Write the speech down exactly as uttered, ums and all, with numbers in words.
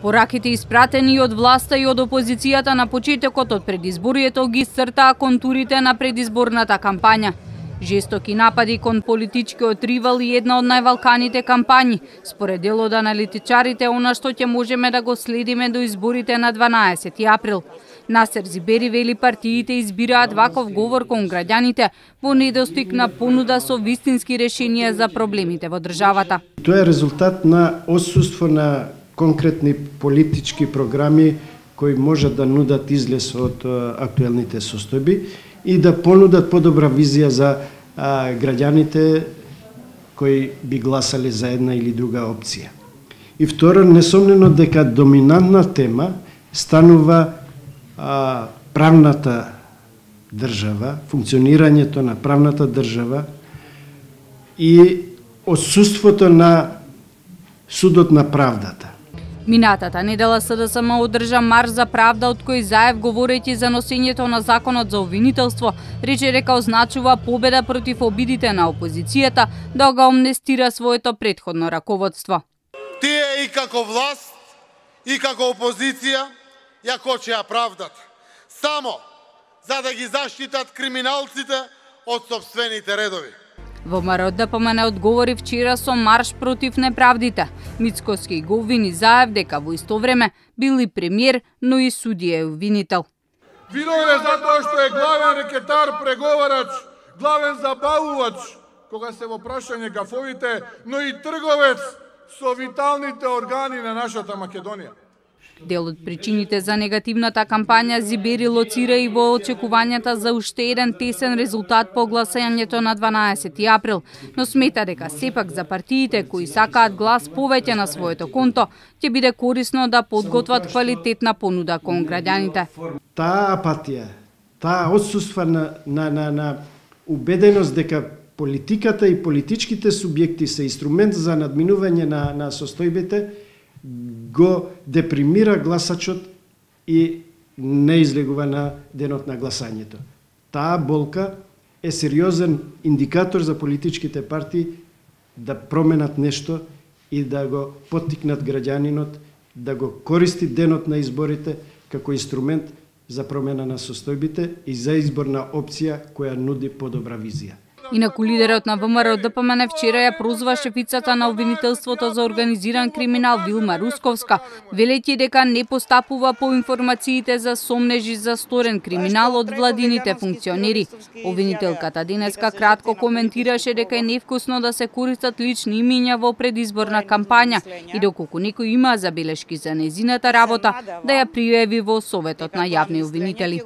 Пораките испратени од власта и од опозицијата на почетокот од предизборието ги исцртаа контурите на предизборната кампања. Жестоки напади кон политичкиот ривал и една од највалканите кампањи, според дел од аналитичарите, она што ќе можеме да го следиме до изборите на дванаесети април. Насер Зибери вели партиите избираат ваков говор кон граѓаните во недостиг на понуда со вистински решенија за проблемите во државата. Тоа е резултат на отсуство на конкретни политички програми кои можат да нудат излез од актуелните состојби и да понудат подобра визија за а, граѓаните кои би гласале за една или друга опција. И второ, несомнено дека доминантна тема станува а, правната држава, функционирањето на правната држава и отсуството на судот на правдата. Минатата недела СДСМ одржа марш за правда од кој Заев, говорејќи за носењето на законот за обвинителство, рече дека означува победа против обидите на опозицијата да го амнестира своето претходно раководство. Тие и како власт, и како опозиција ја кочеа правдата, само за да ги заштитат криминалците од сопствените редови. ВМРО Д П М Н одговори вчера со марш против неправдите. Мицкоски го обвини Заев дека во исто време бил и премиер, но и судија е обвинител. Виновен е затоа што е главен рекетар, преговарач, главен забавувач, кога се во прашање гафовите, но и трговец со виталните органи на нашата Македонија. Дел од причините за негативната кампања Зибери лоцира и во очекувањата за уште еден тесен резултат по гласањето на дванаесети април, но смета дека сепак за партиите кои сакаат глас повеќе на своето конто, ќе биде корисно да подготват квалитетна понуда кон граѓаните. Таа апатија, таа отсуство на, на, на, на убеденост дека политиката и политичките субјекти се инструмент за надминување на, на состојбите, го депримира гласачот и не излегува на денот на гласањето. Таа болка е сериозен индикатор за политичките партии да променат нешто и да го поттикнат граѓанинот да го користи денот на изборите како инструмент за промена на состојбите и за избор на опција која нуди подобра визија. Инаку лидерот на ВМРО Д П М Н вчера ја прозва шефицата на обвинителството за организиран криминал Вилма Русковска, велејќи дека не постапува по информациите за сомнежи за сторен криминал од владините функционери. Обвинителката денеска кратко коментираше дека е невкусно да се користат лични имиња во предизборна кампања и доколку некој има забелешки за незината работа, да ја пријави во Советот на јавни обвинители.